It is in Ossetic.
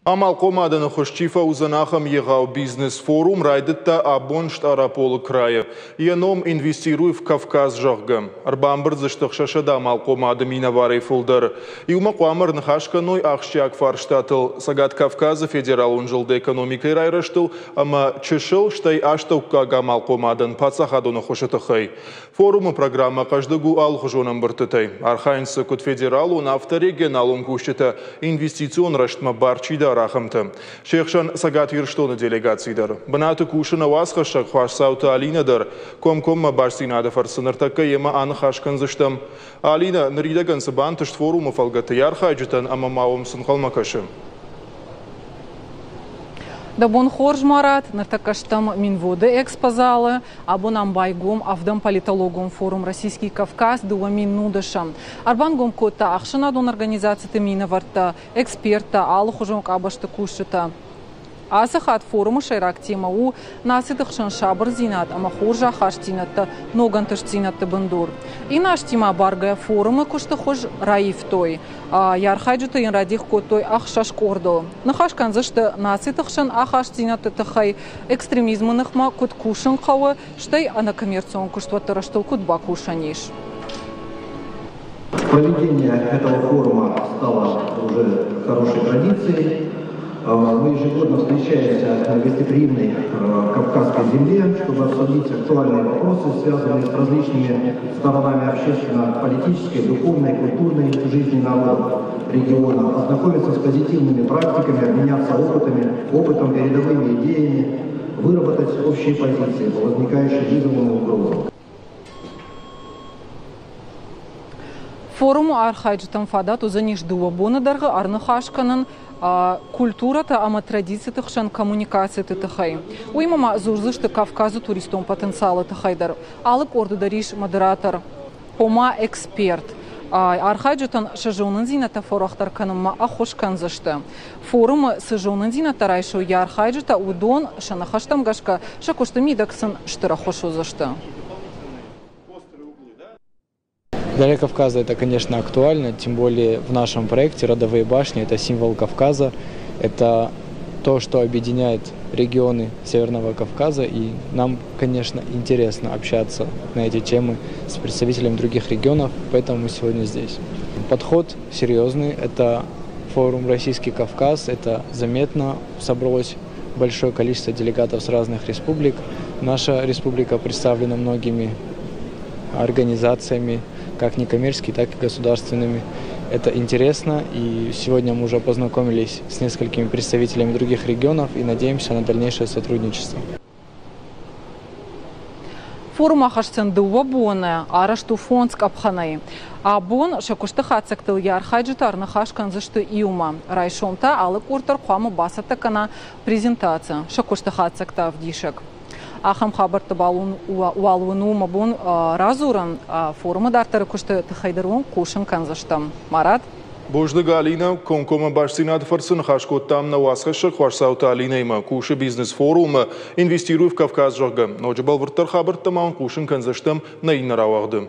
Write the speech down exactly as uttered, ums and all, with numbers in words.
Амалхъомадӕны хуыз чи фӕуыдзӕн, ахӕм егъау бизнес-форум райдыдта абон Стъараполы крайы. Йӕ ном «Инвестируй в Кавказ», зӕгъгӕ. Ӕрбамбырд дзы сты ӕхсӕзсӕдӕ амалхъомады минӕварӕй фылдӕр. Иумӕ хъуамӕ ӕрныхас кӕной ахсджиаг фарстатыл, Цӕгат Кавказы федералон зылды экономикӕйы райрӕзтыл ӕмӕ чысыл, стӕй астӕуккаг амалхъомадӕн паддзахадон ӕххуысы тыххӕй. Форумы программӕ хъӕздыг у алыхуызон ӕмбырдтытӕй. Архайынц дзы куыд федералон, афтӕ регионалон кусджытӕ, инвестицион рӕзтмӕ бар чи дары, ахӕмтӕ. Се хсӕн Цӕгат Ирыстоны делегаци дӕр. Бынаты кусы нӕ уацхӕссӕг Хуасдзауты Алинӕ дӕр. Комкоммӕ бастдзинады фӕрцы ныртӕккӕ йемӕ аныхас кӕндзыстӕм. Алинӕ, ныридӕгӕн цы бантыст форумы фӕлгӕты йӕ архайджытӕн ӕмӕ ма уым цы нхъӕлмӕ кӕсы? Дӕ бон хорз, Марат, ныртӕккӕ стӕм Минводы экспозалы. Абон ам байгом ӕвдӕм политологон форум «Российский Кавказ» дыууӕ мин нудӕсӕм. Ӕрбангом кодта ӕхсӕнадон организациты минӕвӕрттӕ, эксперттӕ, алыхуызон къабӕзты кусджытӕ. Ацы хатт форумы сӕйраг темӕ у нациты хсӕн сабырдзинад ӕмӕ хорз ахастдзинӕдтӕ ног ӕнтыстдзинӕдты бындур. Иннӕ азтимӕ абаргӕйӕ форумы куысты хуыз раивтой. Йӕ архайджыты йын радих кодтой ӕхсӕз къордыл. Ныхас кӕндзысты нациты хсӕн ахастдзинӕдты тыххӕй, экстремизмы ныхмӕ куыд кусын хъӕуы, стӕй ӕнӕкоммерцион куыстуӕтты рӕзтыл куыд бакусӕн ис. Проведение этого форума стало уже хорошей традицией. Мы ежегодно встречаемся на гостеприимной кавказской земле, чтобы обсудить актуальные вопросы, связанные с различными сторонами общественно-политической, духовной, культурной жизни народов региона, ознакомиться с позитивными практиками, обменяться опытами, опытом, передовыми идеями, выработать общие позиции по возникающим вызовам и угрозам. Форумы архайджытӕн фадат уыдзӕнис дыууӕ боны дӕргъы ӕрныхас кӕнын культурӕтӕ ӕмӕ традициты хсӕн коммуникациты тыххӕй. Уыимӕ ма дзурдзысты Кавказы туристон потенциалы тыххӕй дӕр. Алы къорды дӕр ис модератор, ома эксперт. Архайджытӕн сӕ зонындзинӕдтӕ фӕуӕрӕхдӕр кӕнынмӕ ӕххуыс кӕндзысты. Форумы цы зонындзинӕдтӕ райсой йӕ архайджытӕ, уыдон сӕ ныхӕстӕм гӕсгӕ сӕ куысты мидӕг сын стыр ӕххуыс уыдзысты. Для Кавказа это, конечно, актуально, тем более в нашем проекте «Родовые башни» – это символ Кавказа, это то, что объединяет регионы Северного Кавказа, и нам, конечно, интересно общаться на эти темы с представителями других регионов, поэтому мы сегодня здесь. Подход серьезный, это форум «Российский Кавказ», это заметно, собралось большое количество делегатов с разных республик. Наша республика представлена многими организациями, как некоммерческими, так и государственными. Это интересно, и сегодня мы уже познакомились с несколькими представителями других регионов и надеемся на дальнейшее сотрудничество. Форум ахӕсдзӕн дыууӕ боны, арӕзт у фондз къӕпхӕнӕй. Абон сӕ куысты хатдзӕгтыл йӕ архайджытӕ ӕрныхас кӕндзысты иумӕ. Райсом та алы къорд дӕр хъуамӕ бацӕттӕ кӕна презентаци, сӕ куысты хатдзӕгтӕ ӕвдисӕг. Ахӕм хабӕртты уал уын у мӕ бон радзурын. Форумы дарддӕры куысты тыххӕй дӕр уын хъусын кӕндзыстӕм. Марат? Бузныг, Алинӕ. Комкоммӕ бастдзинады фӕрцы ныхас кодтам нӕ уацхӕссӕг Хуасдзауты Алинӕимӕ. Кусы бизнес-форумы «Инвестируй в Кавказ», зӕгъгӕ. Ноджы бӕлвырддӕр хабӕрттӕ ма уын хъусын кӕндзыстӕм нӕ иннӕ рауагъды.